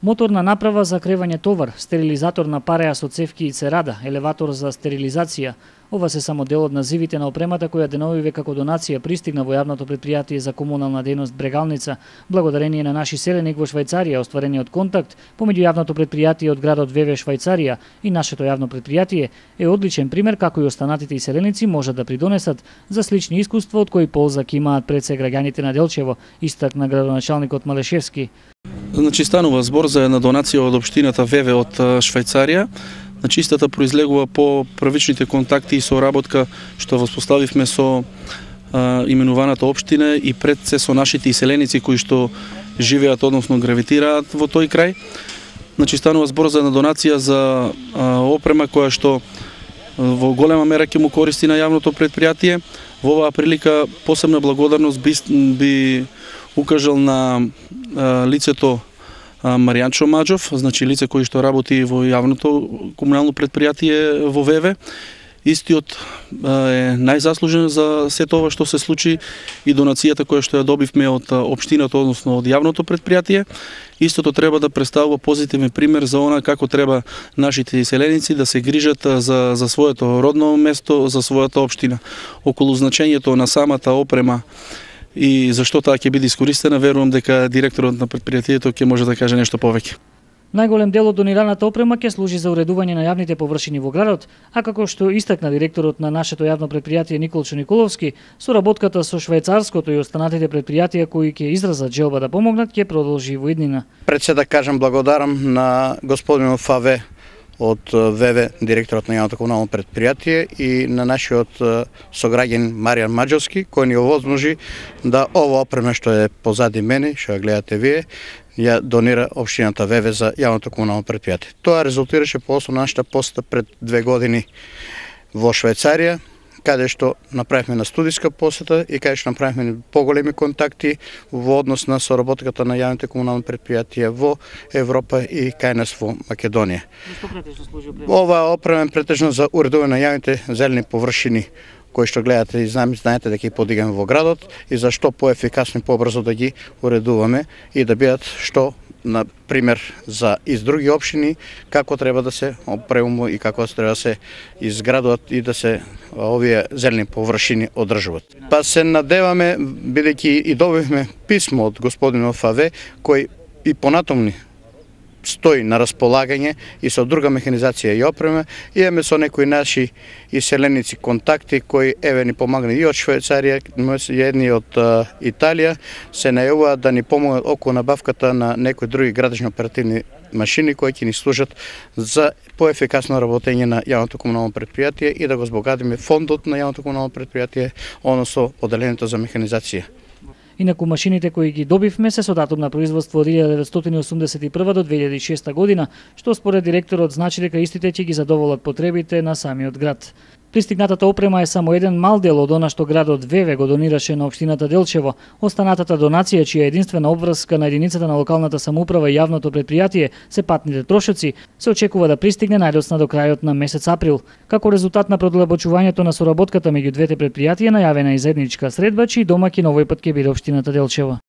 Моторна направа за кревање товар, стерилизатор на пареа со цевки и церада, елеватор за стерилизација. Ова се само дел од називите на опремата која деновиве како донација пристигна во јавното претпријатие за комунална дејност Брегалница, благодарение на наши селеник во Швајцарија, остварениот контакт помеѓу јавното претпријатие од градот Веве Швајцарија и нашето јавно претпријатие е одличен пример како и останатите и селеници можат да придонесат за слични искуства од кои полза ќе имаат пред се граѓаните на Делчево, истакна градоначалникот Малешевски. Значи станува збор за една донација од општината Веве од Швајцарија. Значи истата произлегува по првичните контакти и соработка што воспоставивме со именуваната општина и пред се со нашите иселеници кои што живеат, односно гравитираат во тој крај. Значи станува збор за една донација за опрема која што во голема мера ќе му користи на јавното претпријатие. Во оваа прилика посебна благодарност би укажал на лицето Маријанчо Маџов, значи лице кој што работи во јавното комунално претпријатие во Веве. Истиот е најзаслужен за сето ова што се случи и донацијата која што ја добивме од општината, односно од јавното претпријатие. Истото треба да представува позитивен пример за она како треба нашите иселеници да се грижат за своето родно место, за својата општина. Околу значењето на самата опрема и зашто таа ќе биде искористена, верувам дека директорот на претпријатието ќе може да каже нешто повеќе. Најголем дел од донираната опрема ќе служи за уредување на јавните површини во градот, а како што истакна директорот на нашето јавно претпријатие Николчо Николовски, соработката со швајцарското и останатите претпријатија кои ќе изразат желба да помогнат ќе продолжи во иднина. Пред се да кажам благодарам на господинот Фаве од Веве, директорот на јавното комунално претпријатие, и на нашиот сограѓан Маријан Маџовски, кој ни овозможи да ова опрема што е позади мене, што ја гледате вие, ја донира општината Веве за јавното комунално претпријатие. Тоа резултираше по основ нашата посета пред 2 години во Швајцарија, каде што направивме на студиска посета и каде што направивме поголеми контакти во однос на соработката на јавните комунални претпријатија во Европа и кај нас во Македонија. Ова опрема е претежно за уредување на јавните зелени површини кои што гледате и знаете дека ги подигаме во градот и за што поефикасно и побрзо да ги уредуваме и да бидат што на пример за из други општини како треба да се опремува и како треба да се изградуваат и да се овие зелени површини одржуваат. Па се надеваме, бидејќи и добивме писмо од господинот Фаве, кој и понатаму стои на располагање и со друга механизација и опрема. Имаме со некои наши иселеници контакти кои еве ни помагани и од Швајцарија, едни од Италија, се најавуваат да ни помогнат околу набавката на некои други градични оперативни машини кои ќе ни служат за поефикасно работење на јавното комунално претпријатие и да го збогатиме фондот на јавното комунално претпријатие, односно поделението за механизација. Инаку машините кои ги добивме се со датум на производство од 1981 до 2006 година, што според директорот значи дека истите ќе ги задоволат потребите на самиот град. Пристигнатата опрема е само еден мал дел од она што градот Веве го донираше на општината Делчево. Останатата донација, чија единствена обврска на единицата на локалната самоуправа и јавното претпријатие се патните трошоци, се очекува да пристигне најдосна до крајот на месец април. Како резултат на продлабочувањето на соработката меѓу двете претпријатија, најавена и заедничка средба, чиј домаќин овој пат ќе биде општината Делчево.